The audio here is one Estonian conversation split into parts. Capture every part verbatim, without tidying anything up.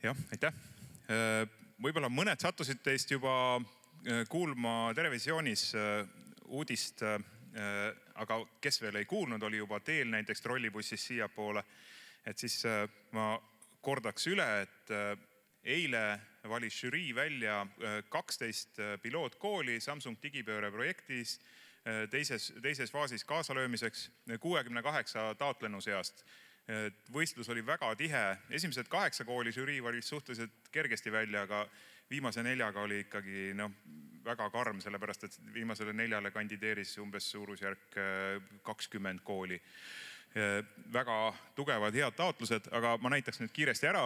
Jah, aitäh. Võib-olla mõned sattusid teist juba kuulma televisioonis uudist, aga kes veel ei kuulnud, oli juba teel näiteks trollibussis siia poole. Et siis ma kordaks üle, et eile valis žürii välja kaksteist pilootkooli Samsung digipööre projektis teises, teises faasis kaasalöömiseks kuuekümne kaheksa taotlenu seast. Võistlus oli väga tihe. Esimesed kaheksa kooli žürii valis suhteliselt kergesti välja, aga viimase neljaga oli ikkagi no, väga karm, sellepärast et viimasele neljale kandideeris umbes suurusjärk kakskümmend kooli. Väga tugevad head taotlused, aga ma näitaks nüüd kiiresti ära.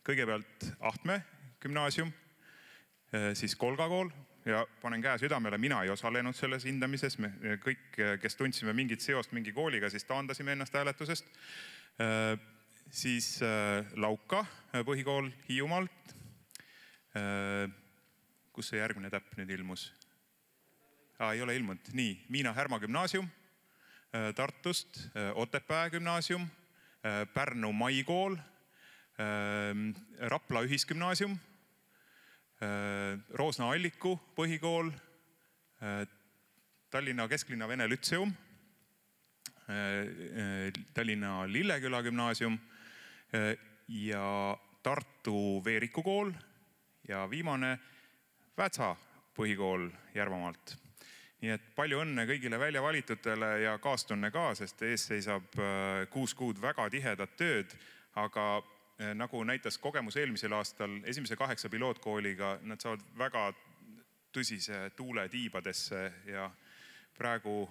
Kõigepealt Ahtme gümnaasium, siis Kolga kool ja panen käe südamele, mina ei osalenud selles hindamises. Me kõik, kes tundsime mingit seost mingi kooliga, siis taandasime ennast hääletusest. Siis Lauka põhikool Hiiumaalt. Kus see järgmine täpp nüüd ilmus? Ah, ei ole ilmunud. Nii, Miina Härma gümnaasium Tartust, Otepää gümnaasium, Pärnu Maikool, Rapla ühisgümnaasium, Roosna Alliku põhikool, Tallinna Kesklinna Vene Lütseum, Tallinna Lilleküla gümnaasium ja Tartu Veeriku kool ja viimane Vätsa põhikool Järvamaalt. Nii et palju õnne kõigile välja valitutele ja kaastunne ka, sest ees seisab kuus kuud väga tihedat tööd, aga nagu näitas kogemus eelmisel aastal esimese kaheksa pilootkooliga, nad saavad väga tõsise tuule tiibadesse ja praegu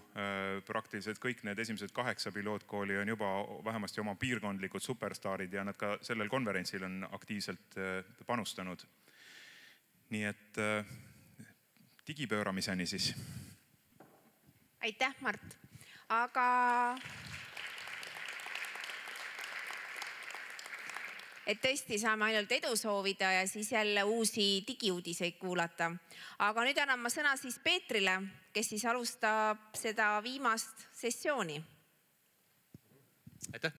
praktiliselt kõik need esimesed kaheksa pilootkooli on juba vähemasti oma piirkondlikud superstaarid ja nad ka sellel konverentsil on aktiivselt panustanud. Nii et digipööramiseni siis. Aitäh, Mart. Aga et tõesti saame ainult edu soovida ja siis jälle uusi digiuudiseid kuulata. Aga nüüd annan ma sõna siis Peetrile, kes siis alustab seda viimast sessiooni. Aitäh.